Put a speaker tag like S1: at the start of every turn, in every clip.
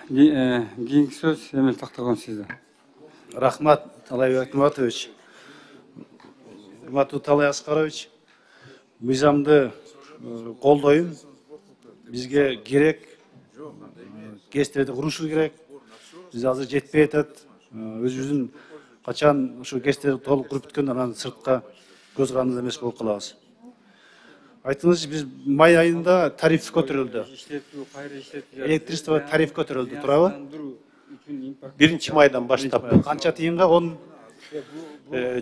S1: Кийинки сөз Эмил Тактагон сизде.
S2: Рахмат, Талай Акматович. Урматтуу Талай Аскарович, мыйзамды колдойм. Бизге керек, ГЭСтерди курушубуз керек. Биз азыр жетпей атат. Өзүбүздүн качан ушу ГЭСтерди толук куруп бүткөндөн анан сыртка көз каранды эмес болуп калабыз. Айтыңызчы, биз май айында тариф көтөрүлдү. Электричество тариф көтөрүлдү, туурабы?
S3: 1-майдан баштап.
S2: Канча тыйынга? 10.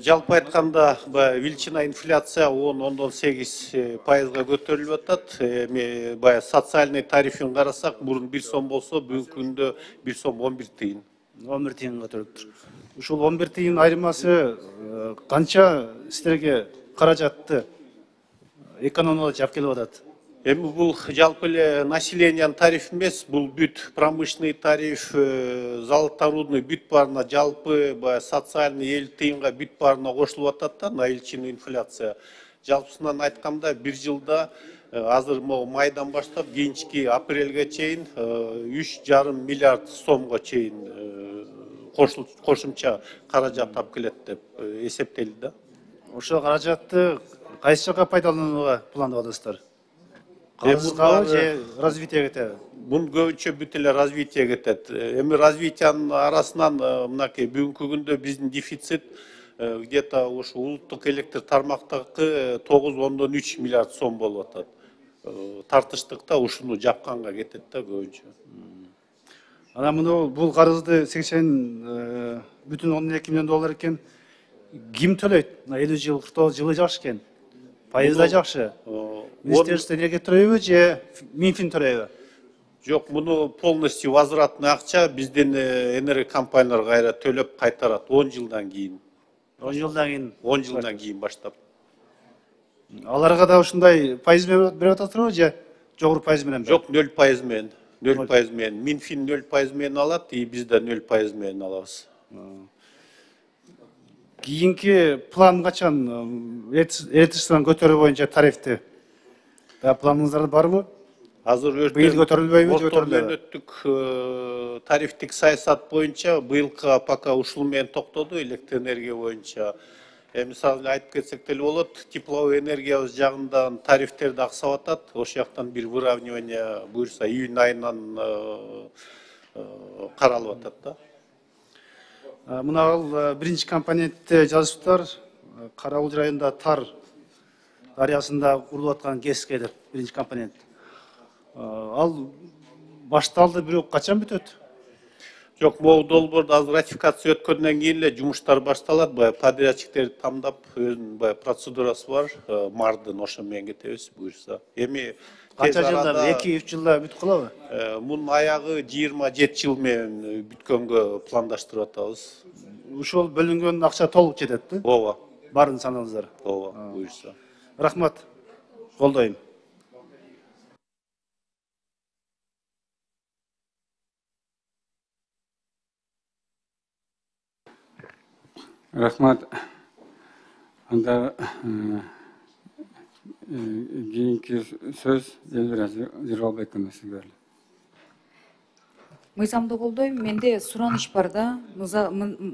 S3: Жалпы айтканда, величина инфляция 10-8% көтөрүлүп атат. Эми социальный тарифин карасак, мурун 1 сом болсо, бүгүнкү күндө 1 сом 11 тыйын.
S2: 11 тыйын көтөрүлүптүр. Ушул 11 тыйын айырмасы канча силерге каражатты экономиялап алып келип атат?
S3: Эми бул жалпы эле населениянын тарифи эмес, бул бүт промышленный тариф, золоторудный бүт баарына жалпы социальный 50 тыйынга бүт баарына кошулуп атат да, на величину инфляция. Жалпысынан айтканда 1 жылда азыр майдан баштап кийинки апрелге чейин 3,5 миллиард сомго чейин кошумча каражат алып келет деп эсептелди да.
S2: Ошол каражатты кайсы жака пайдаланууга пландап атасыздар? Карызгабы же развитие кетеби?
S3: Бун көбүнчө бүт эле развитие кетет. Эми развитиянын арасынан мынакей бүгүнкү күндө биздин дефицит где-то ушу улуттук электр тармактагы 9,3 миллиард сом болуп атат. Тартыштыкта ушуну жапканга кетет да көбүнчө.
S2: Анан муну бул карызды 80 бүтүн 12 миллион доллар экен. Ким төлөйт? 50 жыл, 40 жылы жакшы экен. Пайызда жакшы. Министерство энергия төлөйбү же Минфин төлөйбү?
S3: Жок, муну полностью возвратный акча биздин энергия компаниялар кайра төлөп кайтарат 10 жылдан кийин.
S2: 10 жылдан кийин?
S3: 10 жылдан кийин баштап.
S2: Аларга да ушундай пайыз берип атасызбы же жогору пайыз менен?
S3: Жок, 0% менен. 0% менен. Минфин 0% менен алат, и биз да 0% менен алабыз.
S2: Кийинки план качан электричествонун көтөрүү боюнча тарифти? Планыңыздар барбы?
S3: Азыр
S2: быйыл көтөрүлбөйбү же көтөрүлөбү?
S3: Мөөнөттүк тарифтик саясат боюнча быйылкы пока ушул менен токтоду электр энергия боюнча. Мисалы айтып кетсек деле болот, тепловой энергиябыз жагынан тарифтерди аксап атат. Ошол жактан бир выравнивание буюрса июнь айынан каралып атат да.
S2: Мына ал биринчи компонентте жазыптар, Карауыл районунда Тар дарыясында курулуп аткан ГЭСке деп, биринчи компонент. Ал башталды, бирок качан бүтөт?
S3: Жок, могу долбоорду азыр ратификация өткөндөн кийин эле жумуштар башталат. Подрядчиктерди тандап, өзүнүн процедурасы бар, мардын ошо менен кетебиз буюрса. Эми
S2: канча жылда, 2-3 жылда бүтүп калабы?
S3: Мунун аягы 27 жыл менен бүткөнгө пландаштырып атабыз.
S2: Ушул бөлүнгөн акча толук жетет,
S3: ооба.
S2: Барын санаңыздар.
S3: Ооба, буюрса.
S2: Рахмат. Колдойм.
S1: Рахмат. Анда кийинки сөз Элвира Жыргалбековна сизге берилет.
S4: Мыйзамды колдойм, менде сураныч бар да.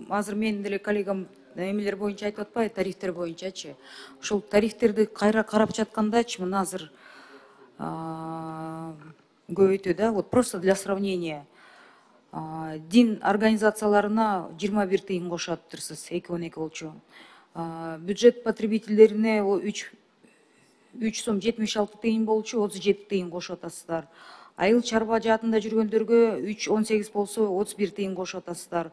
S4: Азыр менин деле коллегам эмелер боюнча айтып атпайбы, тарифтер боюнчачы. Ушул тарифтерди кайра карап жаткандачы, мына азыр көбөйтүү да. Вот просто для сравнения. Дин организацияларына 21 тыйын кошуп атырсыз, 2,12 болчу. Бюджет потребительдерине 3 сом 76 тыйын болчу, 37 тыйын кошуп атасыздар. Айыл чарба жаатында жүргөндөргө 3,18 болсо 31 тыйын кошуп атасыздар.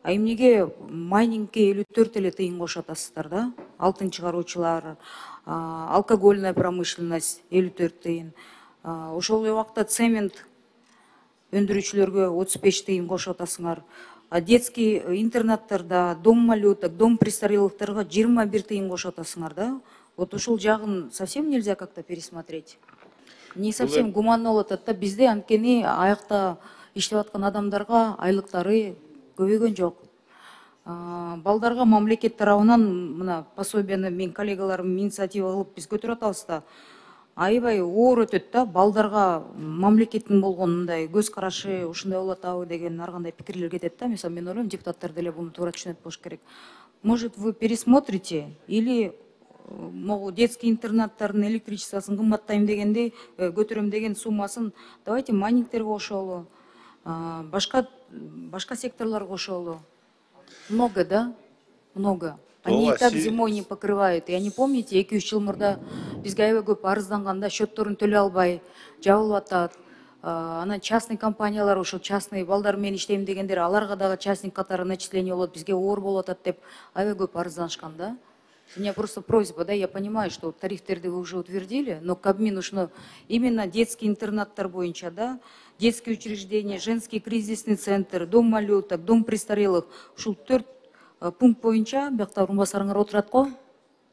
S4: Эмнеге майнингке 54 эле тыйын кошуп атасыздар да? Алтын чыгаруучулар, алкогольная промышленность 54 тыйын. Ошол эле убакта цемент өндүрүүчүлөргө 35 тыйын кошуп атасыңар. Детский интернаттарда, дом малюток, дом престарелыктарга 21 тыйын кошуп атасыңар да? Вот ушул жагын совсем нельзя как-то пересмотреть. Не совсем гуманно болуп атат да. Бизде анткени аякта иштеп аткан адамдарга айлыктары көбөйгөн жок. Балдарга мамлекет тарабынан мына пособияны мен коллегаларым инициатива кылып биз көтөрүп атабыз да. аябай оор өтөт да, балдарга мамлекеттин болгон мындай көз карашы ушундай болуп атабы деген ар кандай пикирлер кетет да. Мисалы мен ойлойм, депутаттар деле буну туура түшүнөт болуш керек. Может, вы пересмотрите или могу детский интернаттардын электричествосын кымбаттайм дегенди, көтөрөм деген суммасын давайте майнингтерге кошолу, башка секторлорго кошолу. Много, да? Много. Они и так зимой не покрывают. Я не помните, 2-3 жыл мурда бизге аябай көп арызданганда счетторун төлөй албай жабылып атат. Анан частный компаниялар, ошо частный балдар менен иштейм дегендер, аларга дагы частник катары начисление болот, бизге оор болуп атат деп аябай көп арызданышкан да. У меня просто просьба, да, я понимаю, что тарифтерди вы уже утвердили, но Кабмин ушуну именно детский интернаттар боюнча, да, детские учреждения, женский кризисный центр, дом малюток, дом престарелых, ушул 4 пункт боюнча биякта орунбасарыңар отурат го.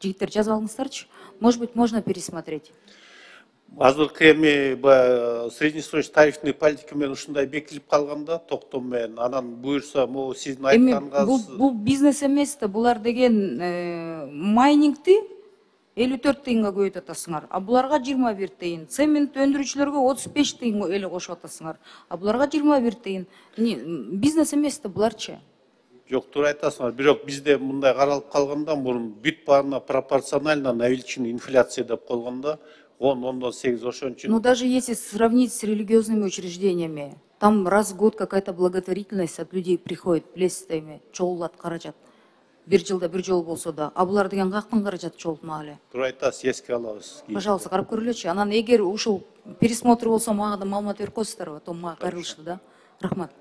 S4: Жигиттер жазып алыңыздарчы. Может быть, можно пересмотреть.
S3: Азыркы эми среднесрочный тарифный политика менен ушундай бекитилип калганда, токтом менен, анан буюрса, могу сиздин айтканыңыз.
S4: Бул бизнес эмес да, булар деген майнингти 54 тыйынга көбөйтүп атасыңар, а буларга 21 тыйын. Цемент өндүрүүчүлөргө 35 тыйын эле кошуп атасыңар, а буларга 21 тыйын. Бизнес эмес да буларчы.
S3: Жок, туура айтасыңар. Бирок бизде мындай каралып калганда, мурун бүт баарына пропорционально на величину инфляция деп койгондо 10-8 ошон үчүн.
S4: Ну даже если сравнить с религиозными учреждениями, там раз в год какая-то благотворительность от людей приходит, билесиздер эми, чогулат каражат. Бир жылда бир жолу болсо да, а булар деген каяктан каражат чогултмак эле.
S3: Туура айтасыз, эске алабыз.
S4: Пожалуйста, карап көрүлөчү. Анан эгер ушул пересмотр болсо мага да маалымат берип коесуздарбы, то мага кайрылышты да. Рахмат.